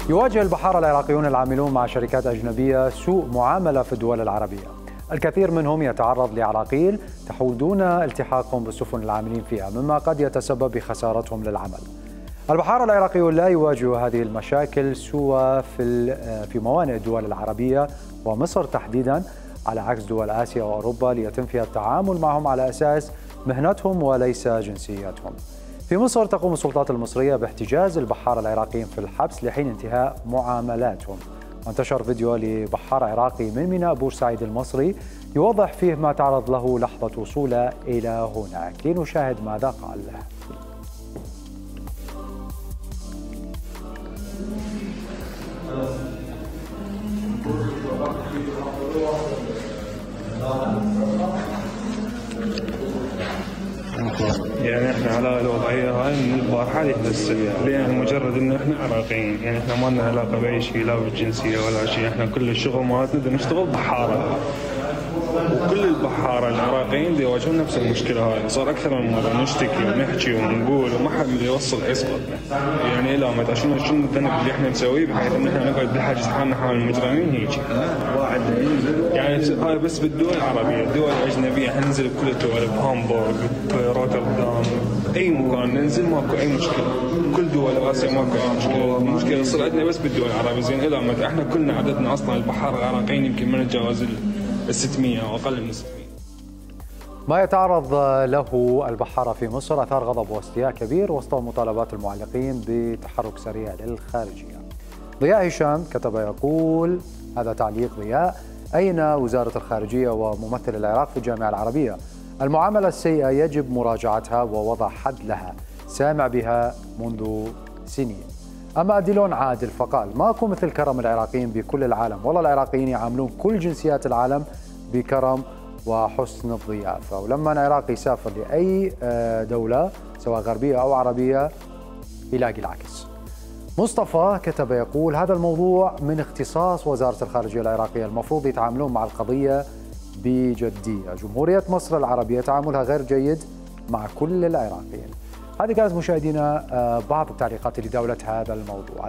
يواجه البحارة العراقيون العاملون مع شركات أجنبية سوء معاملة في الدول العربية. الكثير منهم يتعرض لعراقيل تحول دون التحاقهم بالسفن العاملين فيها، مما قد يتسبب بخسارتهم للعمل. البحارة العراقيون لا يواجهوا هذه المشاكل سوى في موانئ الدول العربية ومصر تحديدا، على عكس دول آسيا وأوروبا ليتم فيها التعامل معهم على أساس مهنتهم وليس جنسياتهم. في مصر تقوم السلطات المصرية باحتجاز البحارة العراقيين في الحبس لحين انتهاء معاملاتهم. وانتشر فيديو لبحار عراقي من ميناء بورسعيد المصري يوضح فيه ما تعرض له لحظة وصوله إلى هناك. لنشاهد ماذا قال. يعني احنا على الوضعيه هاي من البارحه للسريع، لان مجرد ان احنا عراقيين، يعني احنا ما لنا علاقه باي شيء، لا بالجنسيه ولا شيء، احنا كل الشغل مالتنا نشتغل بحاره، وكل البحاره العراقيين يواجهون نفس المشكله هاي. صار اكثر من مره نشتكي ونحكي ونقول وما حد يوصل يسقط، يعني الى متى شنو الذنب اللي احنا نسويه بحيث ان احنا نقعد بحاجز حالنا حال المجرمين هيك. يعني هاي بس بالدول العربيه، الدول الاجنبيه احنا ننزل بكل الدول، بهامبورغ، روتردام، اي مكان ننزل ماكو اي مشكله، كل دول اسيا ماكو اي مشكله، المشكله تصير عندنا بس بالدول العربيه. زين الى متى؟ احنا كلنا عددنا اصلا البحاره العراقيين يمكن ما نتجاوز ال 600 او اقل من 600. ما يتعرض له البحارة في مصر أثار غضب واستياء كبير وسط مطالبات المعلقين بتحرك سريع للخارجية. ضياء هشام كتب يقول، هذا تعليق ضياء: أين وزارة الخارجية وممثل العراق في الجامعة العربية؟ المعاملة السيئة يجب مراجعتها ووضع حد لها، سامع بها منذ سنين. أما ديلون عادل فقال: ماكو مثل كرم العراقيين بكل العالم، والله العراقيين يعاملون كل جنسيات العالم بكرم وحسن الضيافة، ولما العراقي يسافر لأي دولة سواء غربية أو عربية يلاقي العكس. مصطفى كتب يقول: هذا الموضوع من اختصاص وزارة الخارجية العراقية، المفروض يتعاملون مع القضية بجدية. جمهورية مصر العربية تعاملها غير جيد مع كل العراقيين. هذه كانت مشاهدينا بعض التعليقات لدولة هذا الموضوع.